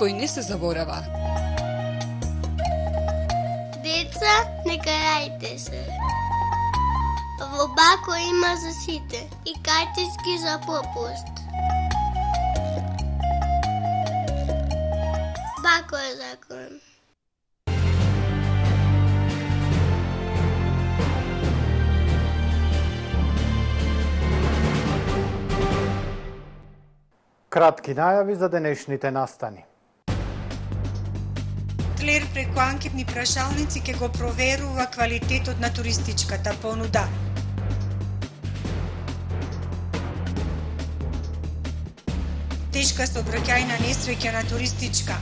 Виспој не се заборава. Деца, не карајте се. Во Бако има за сите и картички за попуст. Бако е закон. Кратки најави за денешните настани. Тлер преку анкетни прашалници ќе го проверува квалитетот на туристичката понуда. Тешка сообраќајна несреќа на туристичка.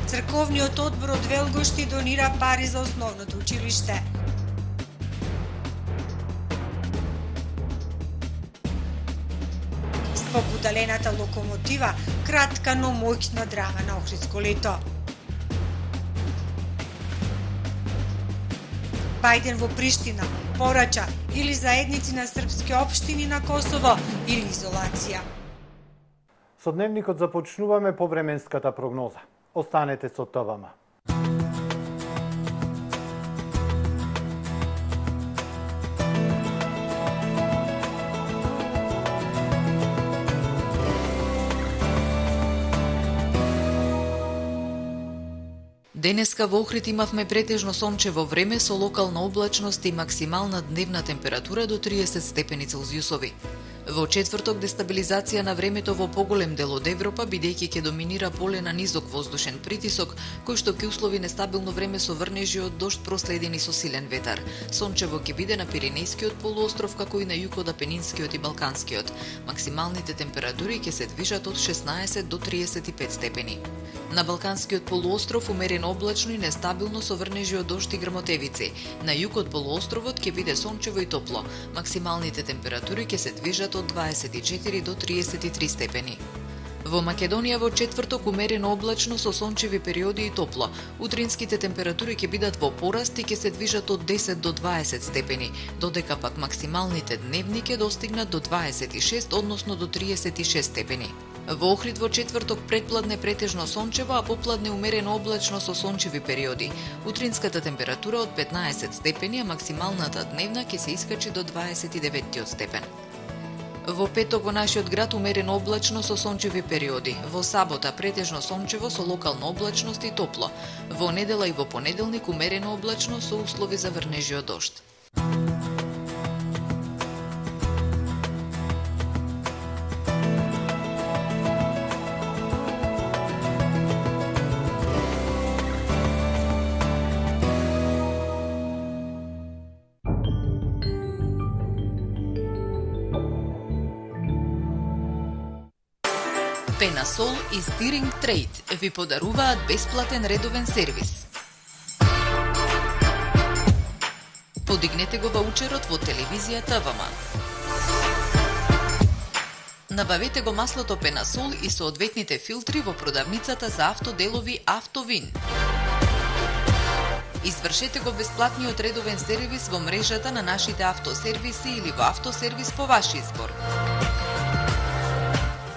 Црковниот одбор од Велгошти донира пари за основното училиште. Попудалената локомотива, кратка но моќна драма на Охридско лето. Бајден во Приштина порача или заедници на српски општини на Косово или изолација. Со дневникот започнуваме повременската прогноза. Останете со ТВМ. Денеска во Охрид имавме претежно сончево време со локална облачност и максимална дневна температура до 30 степени Целзиусови. Во четврток дестабилизација на времето во поголем дел од Европа, бидејќи ќе доминира поле на низок воздушен притисок, кој што ќе услови нестабилно време со врнежи од дожд проследени со силен ветар. Сончево ќе биде на Пиренејскиот полуостров, како и на југ од Апенинскиот и Балканскиот. Максималните температури ќе се движат од 16 до 35 степени. На Балканскиот полуостров умерено облачно и нестабилно со врнежи од дожд и грмотевици. На југ од полуостровот ќе биде сончево и топло. Максималните температури ќе се движат од 24 до 33 степени. Во Македонија во четврток умерено облачно со сончеви периоди и топло. Утринските температури ќе бидат во пораст и ќе се движат од 10 до 20 степени, додека пак максималните дневни ќе достигнат до 26, односно до 36 степени. Во Охрид во четврток предпладне претежно сончево, а попладне умерено облачно со сончеви периоди. Утринската температура од 15 степени, а максималната дневна ќе се искачи до 29 степен. Во петок во нашиот град умерено облачно со сончеви периоди. Во сабота претежно сончево со локална облачност и топло. Во недела и во понеделник умерено облачно со услови за врнежи од дожд. Пенасол и Стиринг Трейд ви подаруваат бесплатен редовен сервис. Подигнете го ваучерот во телевизија ТВМ. Набавете го маслото Пенасол и соодветните филтри во продавницата за автоделови Автовин. Извршете го бесплатниот редовен сервис во мрежата на нашите автосервиси или во автосервис по ваш избор.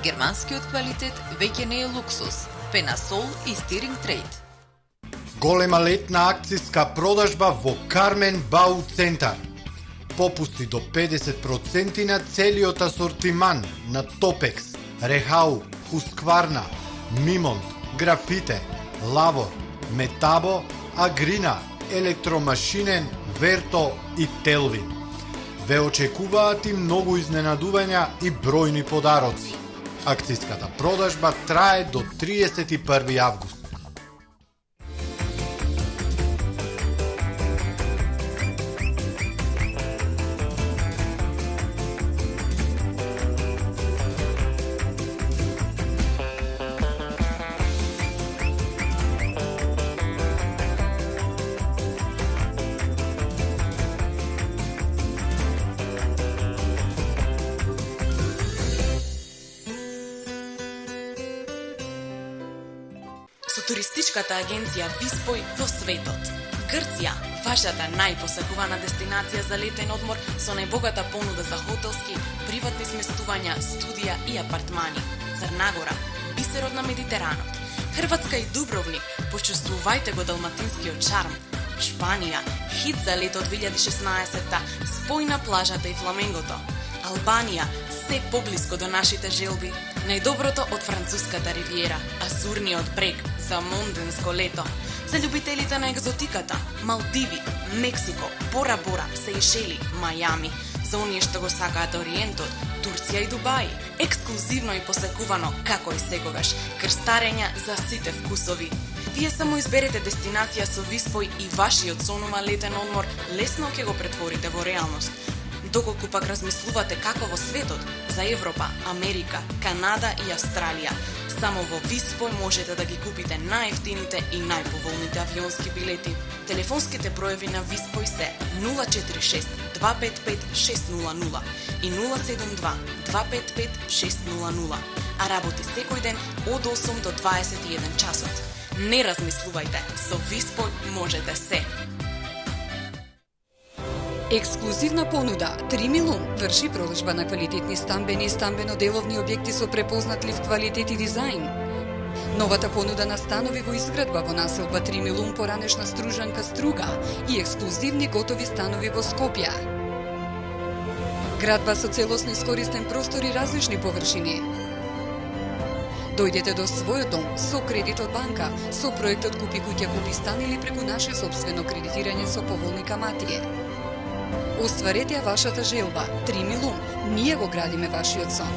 Германскиот квалитет веќе не е луксус. Пенасол и Стиринг Трейд. Голема летна акциска продажба во Кармен Бау Центар. Попусти до 50% на целиот асортиман на Топекс, Рехау, Хускварна, Мимонт, Графите, Лавор, Метабо, Агрина, Електромашинен, Верто и Телвин. Ве очекуваат и многу изненадувања и бројни подароци. Акцијската продажба трае до 31 август. Туристичката агенција Виспој во светот. Грција, Вашата најпосакувана дестинација за летен одмор со најбогата понуда за хотелски, приватни сместувања, студија и апартмани. Црнагора, бисерот на Медитеранот. Хрватска и Дубровник, почувствувајте го далматинскиот шарм. Шпанија, хит за лето 2016-та, спој на плажата и фламенгото. Албанија, се поблиско до нашите желби. Најдоброто од француската ривиера, Азурниот брег за монденско лето. За љубителите на екзотиката, Малдиви, Мексико, Бора Бора, Сеишели, Мајами. За оние што го сакаат ориентот, Турција и Дубај. Ексклузивно и посекувано, како и секогаш, крстарења за сите вкусови. Вие само изберете дестинација со виспој и вашиот сонума летен одмор лесно ќе го претворите во реалност. Доколку пак размислувате како во светот, за Европа, Америка, Канада и Австралија, само во Виспој можете да ги купите најевтините и најповолните авионски билети. Телефонските броеви на Виспој се 046 255 600 и 072 255 600, а работи секој ден од 8 до 21 часот. Не размислувајте, со Виспој можете се. Ексклузивна понуда 3 милион врши продажба на квалитетни стамбени и стамбено-деловни објекти со препознатлив квалитет и дизајн. Новата понуда на станови во изградба во населба 3 милион поранешна Стружанка Струга и ексклузивни готови станови во Скопје. Градба со целосно искористен простор и различни површини. Дојдете до својот дом со кредит од банка, со проектот Купи куќа, купи стан или преку наше собствено кредитирање со поволни камати. Остварете ја вашата желба. 3 милион. Ние го градиме вашиот сон.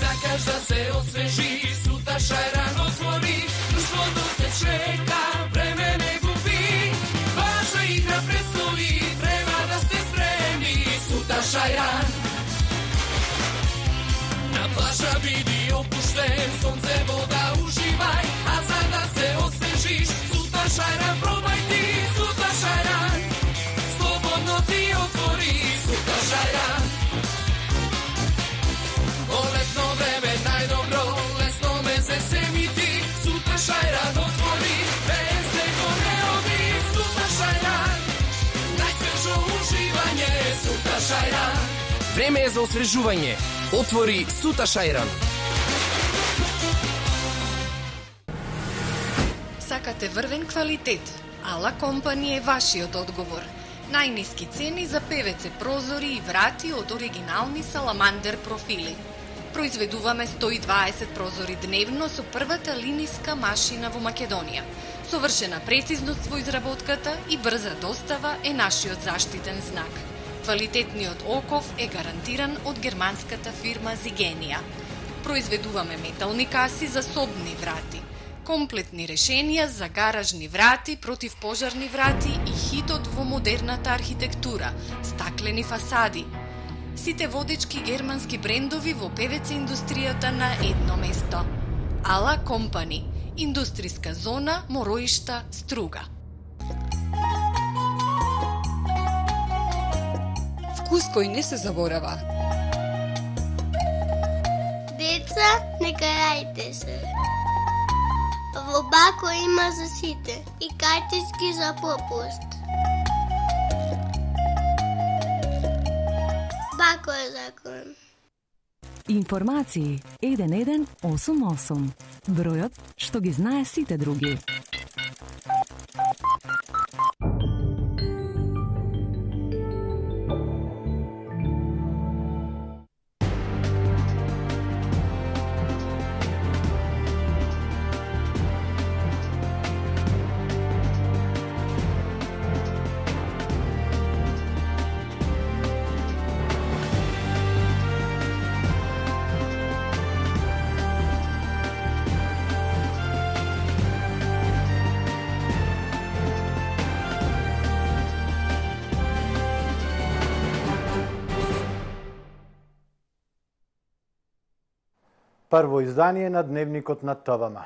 Сакаш да се освежи, сута шајран отвори, друштвото те чека, време не губи. Ваша игра предстои, треба да сте спремни, сута шајран. На плажа биди опуштен, сонце, вода уживај, а за да се освежиш, сута шајран пробај ти, сута шајран. Слободно ти отвори, сута шајран. Во летно време најдобро, лесно ме се семи ти, сута шајран отвори, без него не оди, сута шајран. Најсвежо уживање, сута шајран. Време е за освежување. Отвори сута шајран. Сакате врвен квалитет? Ала Компани е вашиот одговор. Најниски цени за ПВЦ прозори и врати од оригинални Саламандер профили. Произведуваме 120 прозори дневно со првата линиска машина во Македонија. Совршена прецизност во изработката и брза достава е нашиот заштитен знак. Квалитетниот оков е гарантиран од германската фирма Зигенија. Произведуваме метални каси за собни врати, комплетни решенија за гаражни врати, противпожарни врати и хитот во модерната архитектура, стаклени фасади. Сите водечки германски брендови во ПВЦ индустријата на едно место. Ала Компани, индустријска зона Мороишта, Струга. Вкус кој не се заборава. Деца, не карајте се. Во Бако има за сите и картички за попуст. Бако е закон. Информации 1188. Бројот што ги знае сите други. Прво издание на Дневникот на ТВМ.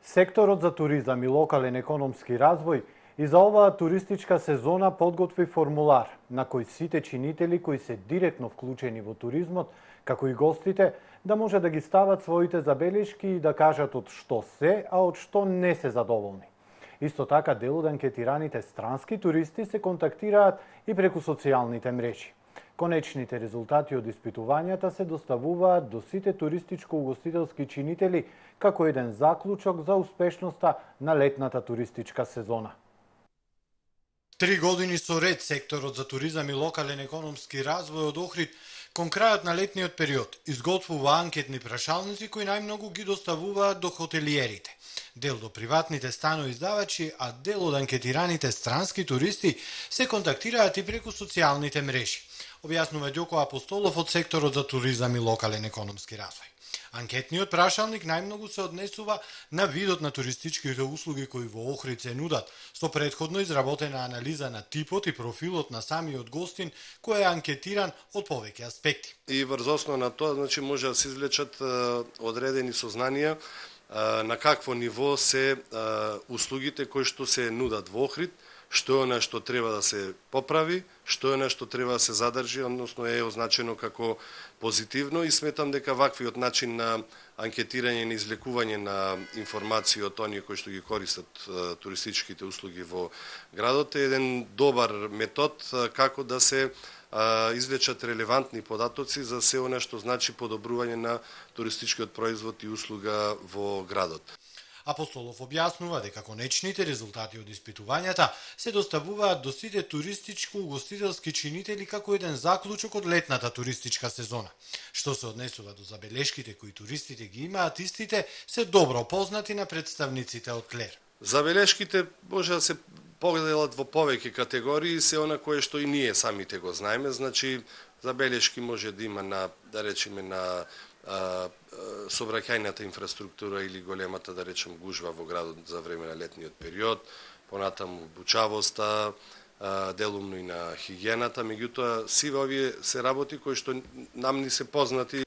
Секторот за туризам и локален економски развој И за оваа туристичка сезона подготви формулар на кој сите чинители кои се директно вклучени во туризмот, како и гостите, да може да ги стават своите забелешки и да кажат од што се, а од што не се задоволни. Исто така, дел од анкетираните странски туристи се контактираат и преку социјалните мрежи. Конечните резултати од испитувањата се доставуваат до сите туристичко-угостителски чинители како еден заклучок за успешноста на летната туристичка сезона. 3 години со ред секторот за туризам и локален економски развој од Охрид кон крајот на летниот период изготвува анкетни прашалници кои најмногу ги доставуваат до хотелиерите, дел до приватните станоиздавачи, а дел од анкетираните странски туристи се контактираат и преку социјалните мрежи, објаснува Ѓоко Апостолов од секторот за туризам и локален економски развој. Анкетниот прашалник најмногу се однесува на видот на туристичките услуги кои во Охрид се нудат, со претходно изработена анализа на типот и профилот на самиот гостин кој е анкетиран од повеќе аспекти. И врз основа на тоа, може да се извлечат одредени сознанија на какво ниво се услугите кои што се нудат во Охрид, што е нешто треба да се поправи, што е нешто треба да се задржи, односно е означено како позитивно, и сметам дека ваквиот начин на анкетирање и извлекување на информации од оние кои што ги користат туристичките услуги во градот е еден добар метод како да се извлечат релевантни податоци за се она што значи подобрување на туристичкиот производ и услуга во градот. Апостолов објаснува дека конечните резултати од испитувањата се доставуваат до сите туристичко-угостителски чинители како еден заклучок од летната туристичка сезона. Што се однесува до забелешките кои туристите ги имаат, истите се добро познати на представниците од КЛЕР. Забелешките може да се поделат во повеќе категории, се она кое што и ние самите го знаеме, значи забелешки може да има на, да речеме, на сообраќајната инфраструктура или големата, да речем, гужва во градот за време на летниот период, понатаму бучавоста, делумно и на хигиената, меѓутоа сиве овие се работи кои што нам ни се познати.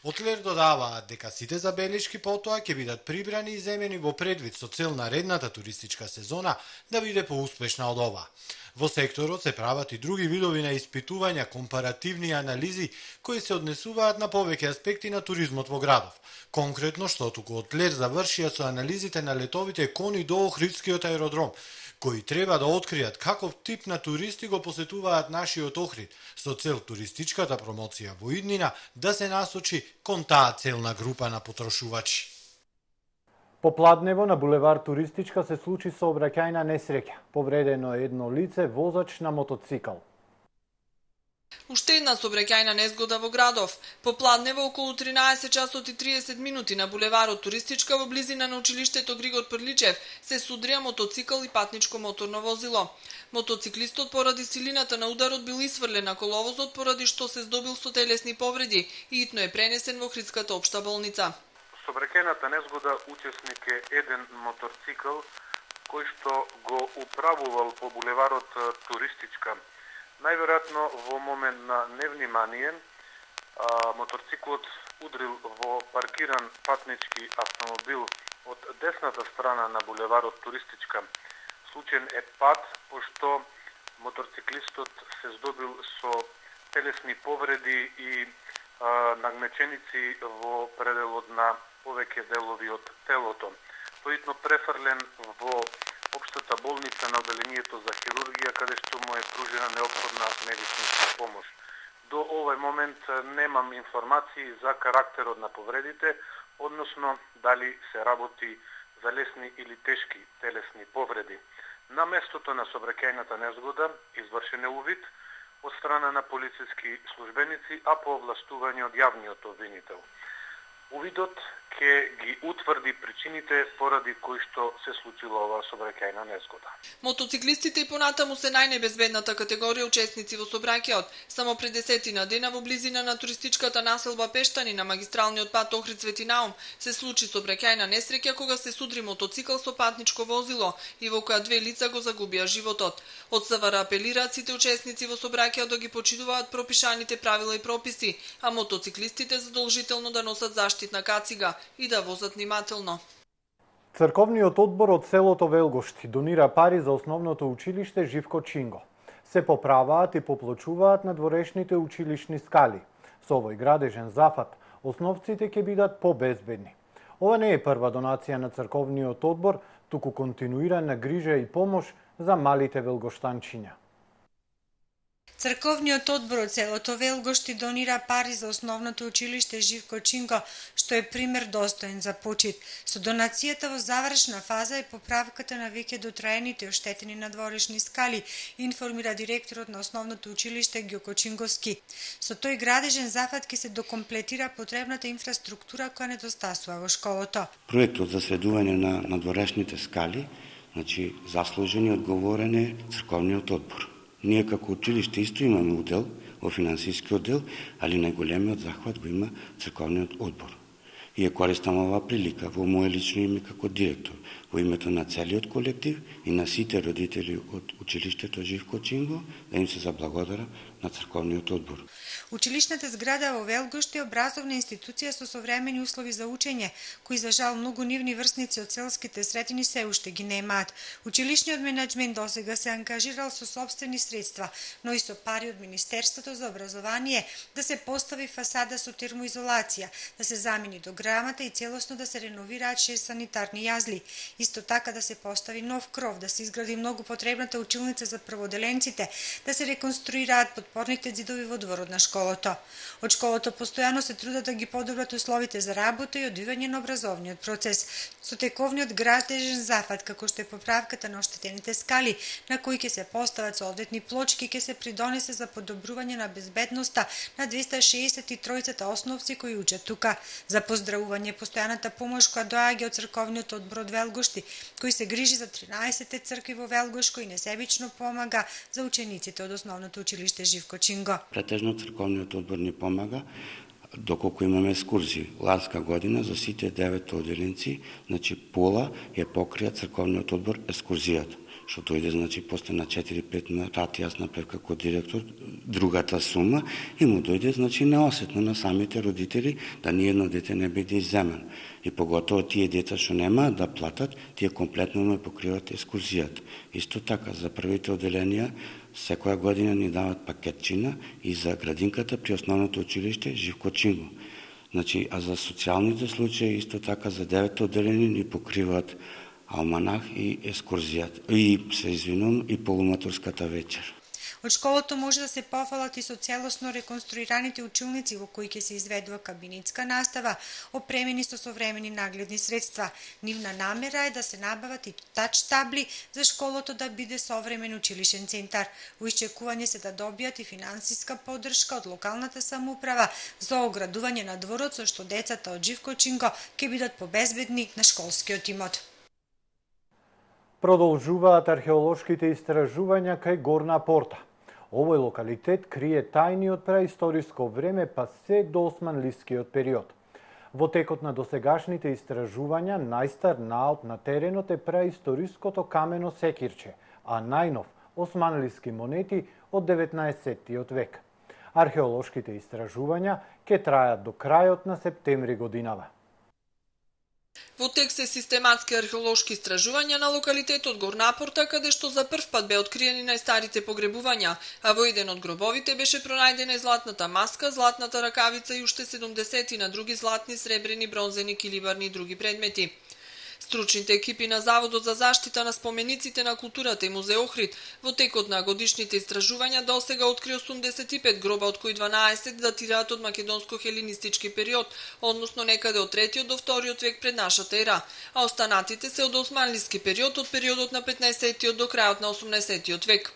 Од КЛЕР додаваат дека сите забелешки потоа ќе бидат прибрани и земени во предвид со цел наредната туристичка сезона да биде поуспешна од ова. Во секторот се прават и други видови на испитувања, компаративни анализи кои се однесуваат на повеќе аспекти на туризмот во градов. Конкретно што туку од КЛЕР завршија со анализите на летовите кони до Охридскиот аеродром, кои треба да откријат каков тип на туристи го посетуваат нашиот Охрид, со цел туристичката промоција во иднина да се насочи кон таа целна група на потрошувачи. По Пладнево на булевар Туристичка се случи сообраќајна несреќа. Повредено е едно лице, возач на мотоцикл. Уште една сообраќајна незгода во градов. По Пладнево околу 13 часот и 30 минути на булеварот Туристичка во близина на училиштето Григор Прличев се судрија мотоцикл и патничко моторно возило. Мотоциклистот поради силината на ударот бил исфрлен на коловозот, поради што се здобил со телесни повреди и итно е пренесен во Охридската општа болница. Сообраќајната незгода учесник е еден моторцикл кој што го управувал по булеварот Туристичка. Најверојатно во момент на невнимание моторциклот удрил во паркиран патнички автомобил од десната страна на булеварот Туристичка. Случаен е пат, пошто моторциклистот се здобил со телесни повреди и нагмеченици во пределот на повеќе делови од телото. Тој префрлен во општата болница на одделението за хирургија, каде што му е пружена неопходна медицинска помош. До овој момент немам информации за карактерот на повредите, односно дали се работи за лесни или тешки телесни повреди. На местото на сообраќајната незгода извршен е увид од страна на полициски службеници, а по овластување од јавниот обвинител. Увидот ќе ги утврди причините поради кои што се случила оваа сообраќајна незгода. Мотоциклистите и понатаму се најнебезбедната категорија учесници во сообраќајот. Само пред 10 дена во близина на туристичката населба Пештани на магистралниот пат Охрид Свети Наум се случи сообраќајна несреќа кога се судри мотоцикл со патничко возило и во која 2 лица го загубија животот. Од СВР апелираат сите учесници во сообраќајот да ги почитуваат пропишаните правила и прописи, а мотоциклистите задолжително да носат заштитна кацига и да возат внимателно. Црковниот одбор од селото Велгошти донира пари за основното училиште Живко Чинго. Се поправаат и поплочуваат надворешните училишни скали. Со овој градежен зафат, основците ќе бидат побезбедни. Ова не е прва донација на црковниот одбор, туку континуирана грижа и помош за малите велгоштанчиња. Црковниот одбор од селото Велгошти донира пари за основното училиште Живко Чинго, што е пример достоен за почит. Со донацијата во завршна фаза е поправката на веќе дотраените и оштетени надворешни скали, информира директорот на основното училиште Ѓоко Чинговски. Со тој градежен зафат ќе се докомплетира потребната инфраструктура која недостасува во школото. Проектот за средување на надворешните скали, заслужен и одговорен е црковниот одбор. Ние како училиште исто имаме удел во финансискиот дел, али најголемиот захват го има црковниот одбор. И ја користам оваа прилика во моје лично име како директор, во името на целиот колектив и на сите родители од училиштето Живко Чинго, да им се заблагодарам на црковниот одбор. Училишната зграда во Велгошти е образовна институција со современи услови за учење, кои за жал многу нивни врсници од селските средини се уште ги немаат. Училишниот менаџмент досега се ангажирал со сопствени средства, но и со пари од Министерството за образование да се постави фасада со термоизолација, да се замени дограмата и целосно да се реновираат 6 санитарни јазли. Исто така да се постави нов кров, да се изгради многу потребната училница за прводеленците, да се реконструираат подпорните ѕидови во дворот на школото. Од школото постојано се трудат да ги подобрат условите за работа и одвивање на образовниот процес. Со тековниот градежен зафат, како што е поправката на оштетените скали, на кои ќе се постават соодветни плочки, ќе се придонесе за подобрување на безбедноста на 263 основци кои учат тука. За поздравување постојаната помош која доаѓа од црковниот одбор од Велгошти, кој се грижи за 13 цркви во Велгошко и несебично помага за учениците од основното училиште Живко Чинго. Претежно црковниот одбор ни помага доколку имаме екскурзии. Ланска година за сите 9 оделенци, пола ја покрија црковниот одбор екскурзијата, што дојде после на 4-5 рати јас направив како директор другата сума и му дојде неосетно на самите родители да ниедно дете не биде изземено. И поготово тие деца што немаат да платат, тие комплетно ме покриват екскурзијата. Исто така за првите оделенија секоја година ни дават пакетчина и за градинката при основното училиште Живко Чинго. А за социјалните случаи исто така за 9 оделени ни покриваат алманах и екскурзијата. И полуматурската вечер. Од школото може да се пофалат и со целосно реконструираните училници во кои ќе се изведува кабинетска настава, опремени со современи нагледни средства. Нивна намера е да се набават и тач табли за школото да биде современ училишен центар. Во исчекување се да добијат и финансиска поддршка од локалната самоуправа за оградување на дворот со што децата од Живко Чинго ќе бидат побезбедни на школскиот имот. Продолжуваат археолошките истражувања кај Горна Порта. Овој локалитет крие тајни од преисториско време па се до османлискиот период. Во текот на досегашните истражувања, најстар наод на теренот е преисториското камено секирче, а најнов османлиски монети од 19-тиот век. Археолошките истражувања ќе трајат до крајот на септември годинава. Во тек се систематски археолошки истражувања на локалитетот Горна Порта, каде што за прв пат бе откриени најстарите погребувања, а во еден од гробовите беше пронајдена и златната маска, златната ракавица и уште 70 на други златни, сребрени, бронзени, килибарни и други предмети. Стручните екипи на Заводот за заштита на спомениците на културата и музеј Охрид во текот на годишните истражувања досега откри 85 гроба, од кои 12 датираат од македонско-хелинистички период, односно некаде од 3 до 2 век пред нашата ера, а останатите се од османлиски период, од периодот на 15 до крајот на 18 век.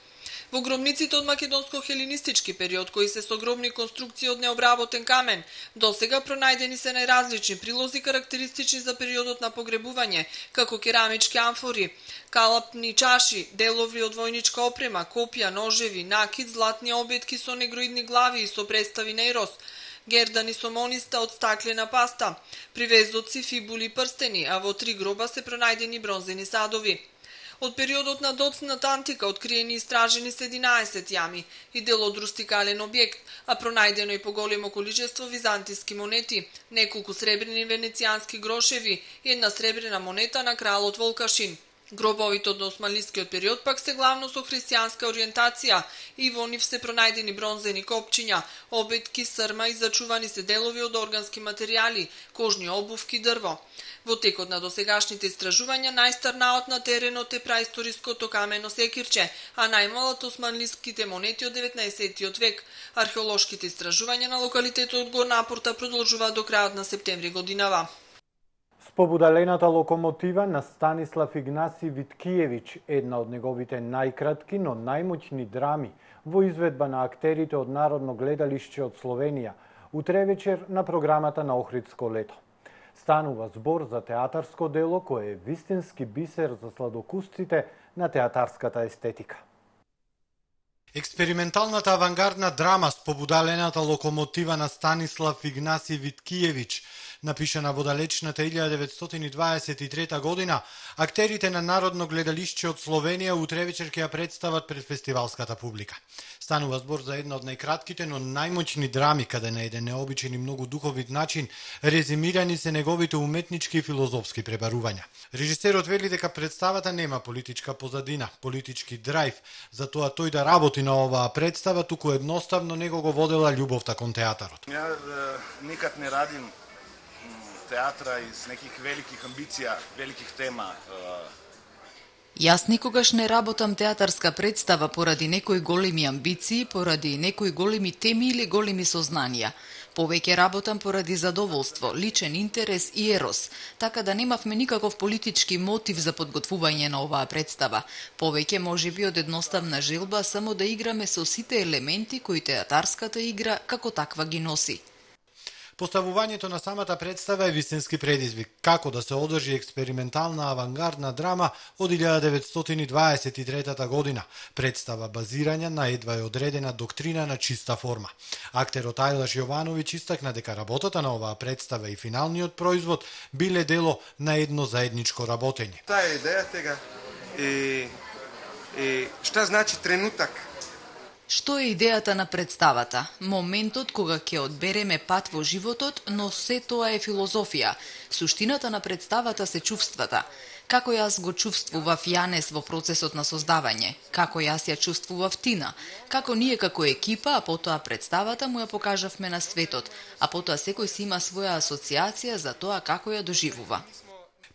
Во гробниците од македонско-хелинистички период, кои се со гробни конструкции од необработен камен, досега пронајдени се најразлични прилози карактеристични за периодот на погребување, како керамички амфори, калапни чаши, делови од војничка опрема, копија, ножеви, накид, златни обетки со негроидни глави и со представи на Ирос, гердани со мониста од стаклена паста, привезоци, фибули, прстени, а во 3 гроба се пронајдени бронзени садови. Од периодот на доцната антика откриени и истражени се 11 јами и дел од рустикален објект, а пронајдено и поголемо количество византиски монети, неколку сребрени венецијански грошеви и една сребрена монета на кралот Волкашин. Гробовите од османлискиот период пак се главно со христијанска ориентација и во нив се пронајдени бронзени копчиња, обетки, срма и зачувани се делови од органски материјали, кожни обувки, дрво. Во текот на досегашните истражувања најстар наод на теренот е праисториското камено секирче, а најмалат османлиските монети од 19 век. Археолошките истражувања на локалитетот Горна Апорта продолжуваат до крајот на септември годинава. Побудалената локомотива на Станислав Игнаси Виткиевич, една од неговите најкратки, но најмоќни драми во изведба на актерите од Народно гледалиште од Словенија, утре вечер на програмата на Охридско лето. Станува збор за театарско дело кое е вистински бисер за сладокусците на театарската естетика. Експерименталната авангардна драма с побудалената локомотива на Станислав Игнаси Виткиевич, напишана во далечната 1923 година, актерите на Народно гледалиште од Словенија утре вечер ќе ја представат пред фестивалската публика. Станува збор за една од најкратките, но најмоќни драми, каде на еден необичен и многу духовит начин резимирани се неговите уметнички и филозофски пребарувања. Режисерот вели дека представата нема политичка позадина, политички драйв, затоа тој да работи на оваа представа, туку едноставно него го водела љубовта кон театарот. Ја никад не радим театра из неких великих амбиција, великих тема. Јас никогаш не работам театарска представа поради некои големи амбиции, поради некои големи теми или големи сознанија. Повеќе работам поради задоволство, личен интерес и ерос, така да немавме никаков политички мотив за подготвување на оваа представа. Повеќе можеби од едноставна желба само да играме со сите елементи кои театарската игра како таква ги носи. Поставувањето на самата представа е вистински предизвик, како да се одржи експериментална авангардна драма од 1923 година, представа базирања на едва е одредена доктрина на чиста форма. Актерот Ајлаш Јовановиќ истакна дека работата на оваа представа и финалниот производ биле дело на едно заедничко работење. Таа е идејата шта значи тренутак? Што е идејата на представата? Моментот кога ќе одбереме пат во животот, но се тоа е филозофија. Суштината на представата се чувствата. Како јас го чувствував Јанес во процесот на создавање, како јас ја чувствував Тина, како ние како екипа, а потоа представата му ја покажавме на светот, а потоа секој си има своја асоциација за тоа како ја доживува.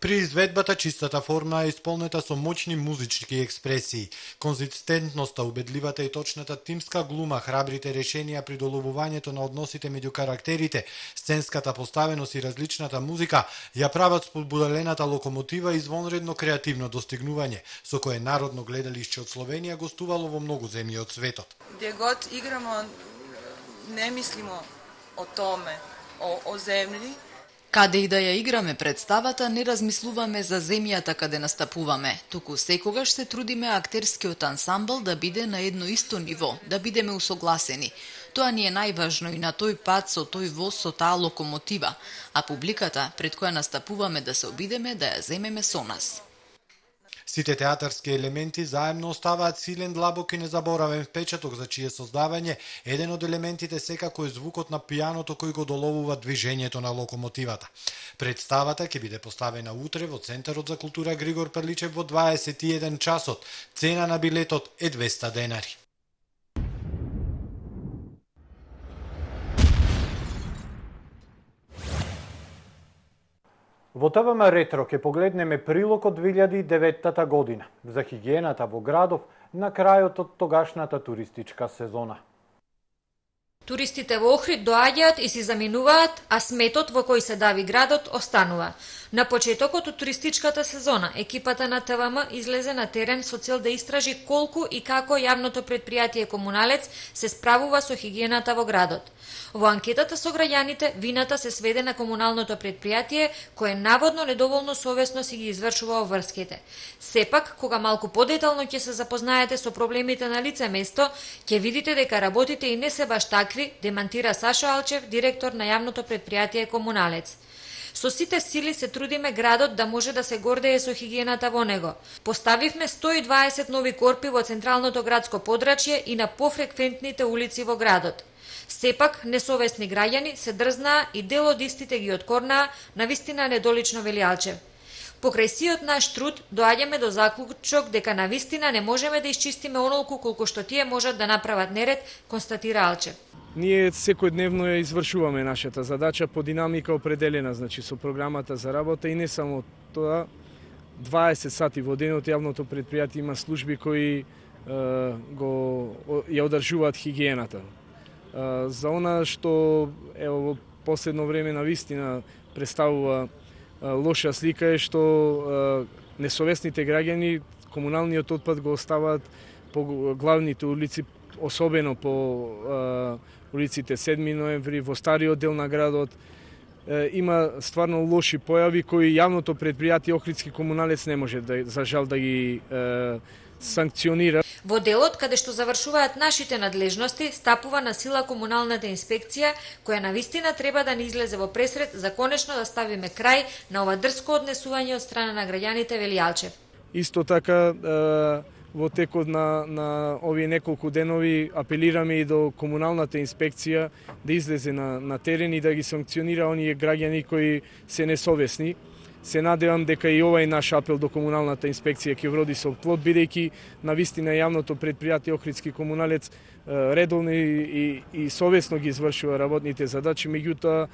При изведбата чистата форма е исполнета со моќни музички експресии. Конзистентноста, убедливата и точната тимска глума, храбрите решенија при доловувањето на односите меѓу карактерите, сценската поставеност и различната музика ја прават спобудалената локомотива извонредно креативно достигнување, со кое Народно гледалиште од Словенија гостувало во многу земји од светот. Где год играмо, не мислимо о томе, о земји. Каде и да ја играме представата, не размислуваме за земјата каде настапуваме, туку секогаш се трудиме актерскиот ансамбл да биде на едно исто ниво, да бидеме усогласени. Тоа ни е најважно и на тој пат со тој воз со таа локомотива, а публиката пред која настапуваме да се обидеме да ја земеме со нас. Сите театарски елементи заедно оставаат силен, длабок и незаборавен впечаток за чие создавање еден од елементите секако е звукот на пијаното кој го доловува движењето на локомотивата. Представата ќе биде поставена утре во Центарот за култура Григор Прличев во 21 часот. Цена на билетот е 200 денари. Во ТВМ Ретро ќе погледнеме прилог од 2009 година за хигиената во градов на крајот од тогашната туристичка сезона. Туристите во Охрид доаѓаат и си заминуваат, а сметот во кој се дави градот останува. На почетокот од туристичката сезона, екипата на ТВМ излезе на терен со цел да истражи колку и како јавното предпријатие Комуналец се справува со хигиената во градот. Во анкетата со граѓаните, вината се сведе на комуналното предпријатие, кое наводно недоволно совесно си ги извршува обврските. Сепак, кога малку подетално ќе се запознаете со проблемите на лице место, ќе видите дека работите и не се баш такви, демантира Сашо Алчев, директор на јавното предпријатие Комуналец. Со сите сили се трудиме градот да може да се гордее со хигиената во него. Поставивме 120 нови корпи во централното градско подрачје и на пофреквентните улици во градот. Сепак, несовесни граѓани се дрзнаа и дел од истите ги откорнаа, навистина недолично вели Алчев. Покрај сиот наш труд, доаѓаме до заклучок дека навистина не можеме да исчистиме онолку колку што тие можат да направат неред, констатира Алчев. Ние секојдневно ја извршуваме нашата задача по динамика определена, значи со програмата за работа и не само тоа, 20 сати во денот јавното предпријатие има служби кои ја одржуваат хигиената. За она што во последно време навистина представува лоша слика е што несовесните граѓани комуналниот отпад го оставаат по главните улици, особено по улиците 7 ноември, во стариот дел на градот. Има стварно лоши појави кои јавното предпријатие Охридски комуналец не може за жал да ги санкционира. Во делот каде што завршуваат нашите надлежности, стапува на сила комуналната инспекција, која навистина треба да ни излезе во пресред за конечно да ставиме крај на ова дрско однесување од страна на граѓаните, вели Алчев. Исто така, во текот на овие неколку денови апелираме и до комуналната инспекција да излезе на терен и да ги санкционира оние граѓани кои се несовесни. Се надевам дека и овај наш апел до комуналната инспекција ќе вроди со плод, бидејќи навистина јавното предпријатие Охридски комуналец редовно и совесно ги извршува работните задачи, меѓутоа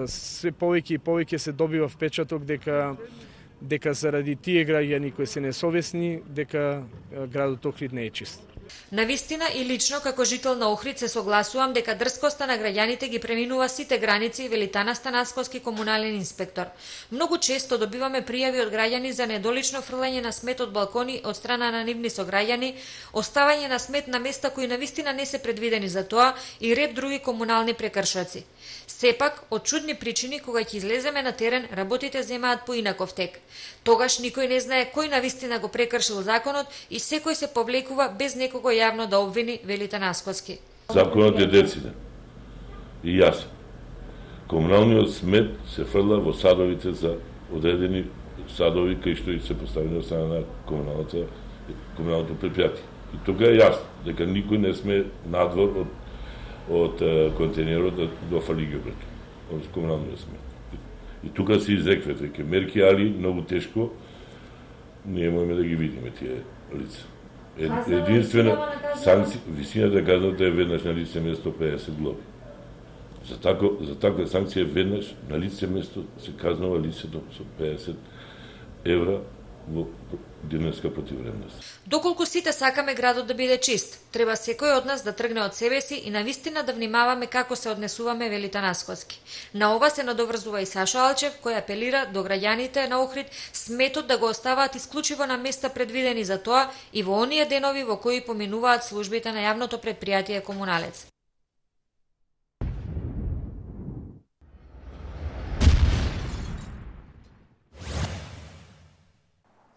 се повеќе и повеќе се добива впечаток дека заради тие граѓани кои се несовесни, дека градот Охрид не е чист. Навистина и лично како жител на Охрид се согласувам дека дрскоста на граѓаните ги преминува сите граници, вели Тана Станасковски, комунален инспектор. Многу често добиваме пријави од граѓани за недолично фрлање на смет од балкони од страна на нивни сограѓани, оставање на смет на места кои навистина не се предвидени за тоа и ред други комунални прекршоци. Сепак, од чудни причини, кога ќе излеземе на терен, работите земаат поинаков тек. Тогаш никој не знае кој навистина го прекршил законот и секој се повлекува без некого јавно да обвини, вели Танасковски. Законот е дециден и јасен. Комуналниот смет се фрла во садовите за одредени садови кои што и се поставени од страна на комуналното предпријатие. И тука е јасно дека никој не сме надвор од контейнерот до фали ѓубрето, од комуналниот смет. И тука се изрекват веќе мерки, али многу тешко ние можеме да ги видиме тие лица. Единствена санкција, висината казната е веднаш на лице место 50 глоби. За таква санкција веднаш на лице место се казнува лицето со 50 евра во денеска противвремност. Доколку сите сакаме градот да биде чист, треба секој од нас да тргне од себе си и навистина да внимаваме како се однесуваме, вели Танасковски. На ова се надоврзува и Сашо Алчев, кој апелира до граѓаните на Охрид сметот да го оставаат исклучиво на места предвидени за тоа и во оние денови во кои поминуваат службите на јавното предпријатие Комуналец.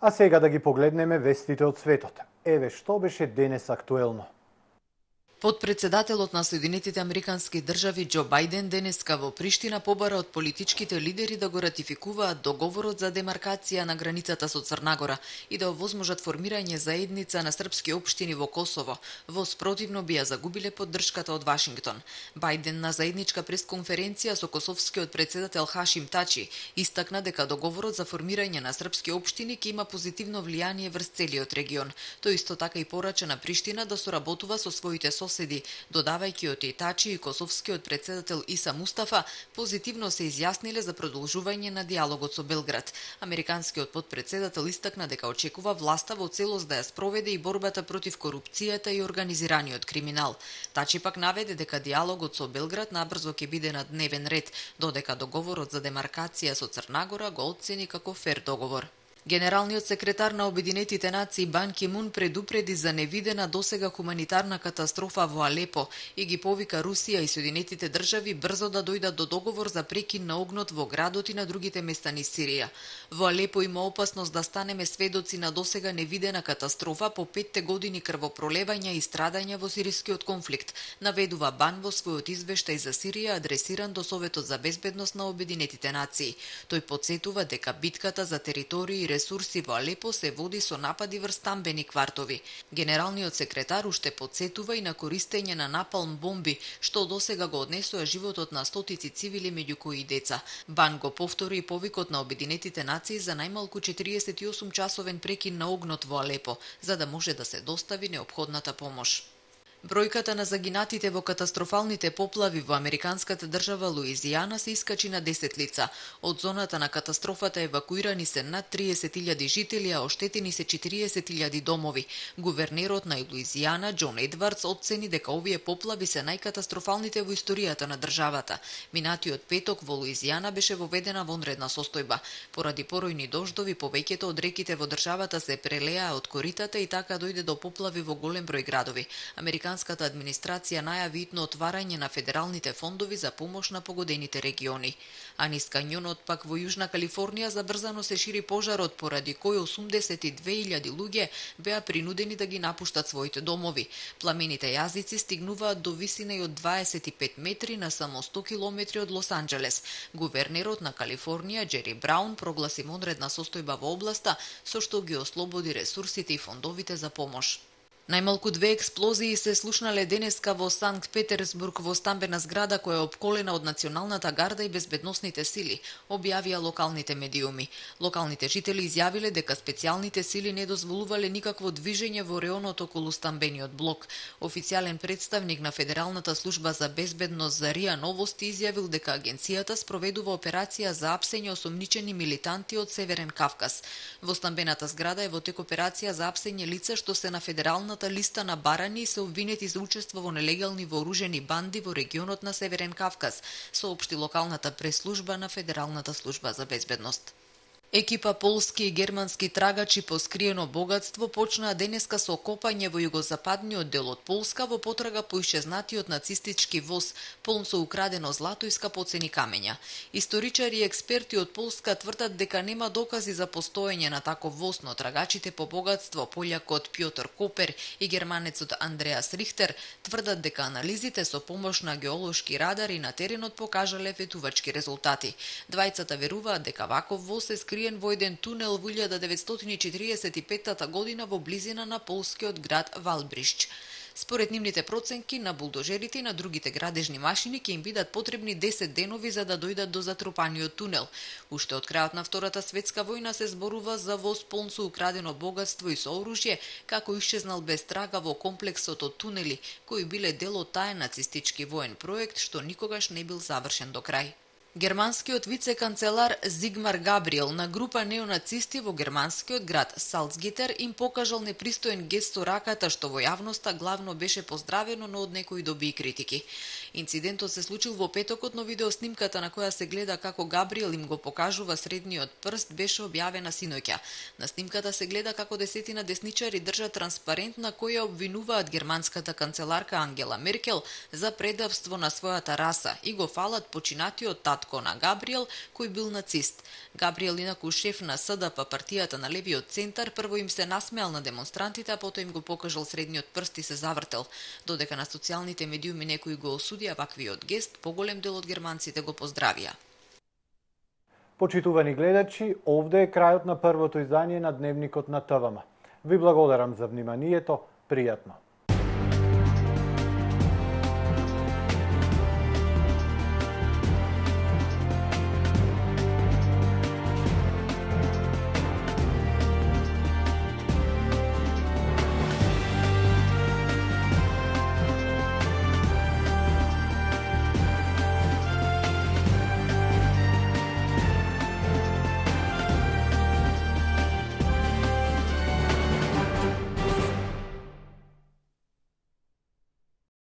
А сега да ги погледнеме вестите од светот. Еве што беше денес актуелно. Подпредседателот на Соединетите Американски држави Џо Бајден денеска во Приштина побара од политичките лидери да го ратификуваат договорот за демаркација на границата со Црна Гора и да овозможат формирање заедница на српски општини во Косово. Во спротивно би ја загубиле поддршката од Вашингтон. Бајден на заедничка пресконференција со косовскиот председател Хашим Тачи истакна дека договорот за формирање на српски општини ќе има позитивно влијание врз целиот регион. Тој исто така и порача на Приштина да соработува со своите соседи, додавајќи од Тачи и косовскиот председател Иса Мустафа позитивно се изјасниле за продолжување на диалогот со Белград. Американскиот подпредседател истакна дека очекува власта во целост да ја спроведе и борбата против корупцијата и организираниот криминал. Тачи пак наведе дека диалогот со Белград набрзо ќе биде на дневен ред, додека договорот за демаркација со Црна Гора го оцени како фер договор. Генералниот секретар на Обединетите нации Бан Ки Мун предупреди за невидена досега хуманитарна катастрофа во Алепо и ги повика Русија и Соединетите држави брзо да дојдат до договор за прекин на огнот во градот и на другите места низ Сирија. Во Алепо има опасност да станеме сведоци на досега невидена катастрофа по 5 години крвопролевања и страдања во сирискиот конфликт, наведува Бан во својот извештај за Сирија адресиран до Советот за безбедност на Обединетите нации. Тој потсетува дека битката за територии и ресурси во Алепо се води со напади врз стамбени квартови. Генералниот секретар уште потсетува и на користење на напалм бомби, што досега го однесува животот на стотици цивили, меѓу кои и деца. Бан го повтори и повикот на Обединетите нации за најмалку 48 часовен прекин на огнот во Алепо, за да може да се достави неопходната помош. Бројката на загинатите во катастрофалните поплави во американската држава Луизијана се искачи на 10 лица. Од зоната на катастрофата евакуирани се над 30.000 жители, а оштетени се 40.000 домови. Гувернерот на Луизијана, Џон Едвардс, оцени дека овие поплави се најкатастрофалните во историјата на државата. Минатиот петок во Луизијана беше воведена вонредна состојба. Поради поројни дождови, повеќето од реките во државата се прелеа од коритата и така дојде до поплави во голем број градови. Американската администрација најави итно отварање на федералните фондови за помош на погодените региони. А низ кањонот пак во Јужна Калифорнија забрзано се шири пожарот, поради кој 82.000 луѓе беа принудени да ги напуштат своите домови. Пламените јазици стигнуваат до висина и од 25 метри на само 100 километри од Лос Анџелес. Гувернерот на Калифорнија, Џери Браун, прогласи вонредна состојба во областа, со што ги ослободи ресурсите и фондовите за помош. Најмалку 2 експлозии се слушнале денеска во Санкт Петерсбург во стамбена зграда која е опколена од Националната гарда и безбедносните сили, објавија локалните медиуми. Локалните жители изјавиле дека специјалните сили не дозволувале никакво движење во реонот околу стамбениот блок. Официјален представник на Федералната служба за безбедност за РИА Новости изјавил дека агенцијата спроведува операција за апсење осомничени милитанти од Северен Кавказ. Во стамбената зграда е во тек операција за апсење лица што се на федерална листа на барани и се обвинети за учество во нелегални вооружени банди во регионот на Северен Кавказ, соопшти локалната пресслужба на Федералната служба за безбедност. Екипа полски и германски трагачи по скриено богатство почнаа денеска со копање во југозападниот дел од Полска во потрага по исчезнатиот нацистички воз полн со украдено злато и скапоцени камења. Историчари и експерти од Полска тврдат дека нема докази за постоење на таков воз, но трагачите по богатство, полјакот Пјотр Копер и германецот Андреас Рихтер, тврдат дека анализите со помош на геолошки радари на теренот покажале ветувачки резултати. Двајцата веруваат дека ваков воз се скри во еден тунел во 1945 година во близина на полскиот град Валбришч. Според нивните проценки, на булдожерите и на другите градежни машини ќе им бидат потребни 10 денови за да дојдат до затрупаниот тунел. Уште од крајот на Втората светска војна се зборува за воз полн со украдено богатство и со оружје, како исчезнал без трага во комплексот од тунели, кои биле дел од таен нацистички воен проект што никогаш не бил завршен до крај. Германскиот вице-канцелар Зигмар Габриел на група неонацисти во германскиот град Салцгитер им покажал непристоен гест со раката, што во јавноста главно беше поздравено, но од некои доби и критики. Инцидентот се случил во петокот, но видеоснимката на која се гледа како Габриел им го покажува средниот прст беше објавена синоќа. На снимката се гледа како десетина десничари држат транспарент на која обвинуваат германската канцеларка Ангела Меркел за предавство на својата раса и го фалат починатиот татко на Габриел, кој бил нацист. Габриел, инаку шеф на СДП, партијата на левиот центар, прво им се насмеал на демонстрантите, а потоа им го покажал средниот прст и се завртел. Додека на социјалните медиуми некои го осудија ваквиот гест, поголем дел од германците го поздравија. Почитувани гледачи, овде е крајот на првото издание на Дневникот на ТВМ. Ви благодарам за вниманието, пријатно.